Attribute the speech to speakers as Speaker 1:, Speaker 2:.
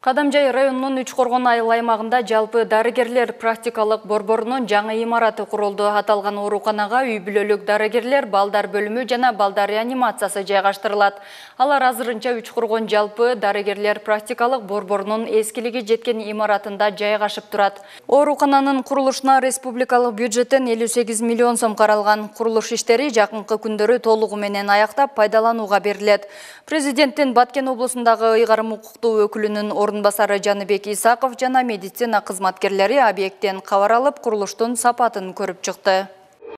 Speaker 1: Кадамжай районунун Үчкоргон айыл аймагында жалпы дарыгерлер практикалык борборунун жаңы имараты курулду. Аталган ооруканага үй бүлөлүк дарыгерлер, балдар бөлүмү жана балдар реанимациясы жайгаштырылат. Алар азырынча Үчкоргон жалпы дарыгерлер практикалык борборунун эскилиги жеткен имаратында жайгашып турат. Оорукананын курулушуна республикалык бюджеттен 58 миллион сом каралган. Курулуш иштери жакынкы күндөрү толугу менен аяктап пайдаланууга берилет. Президенттин Баткен облусундагы ыйгарым укуктуу өкүлүнүн орунбасары Жаныбек Исаков жана медицина кызматкерлери объекттен кабар алып, курулуштун сапатын көрүп чыкты.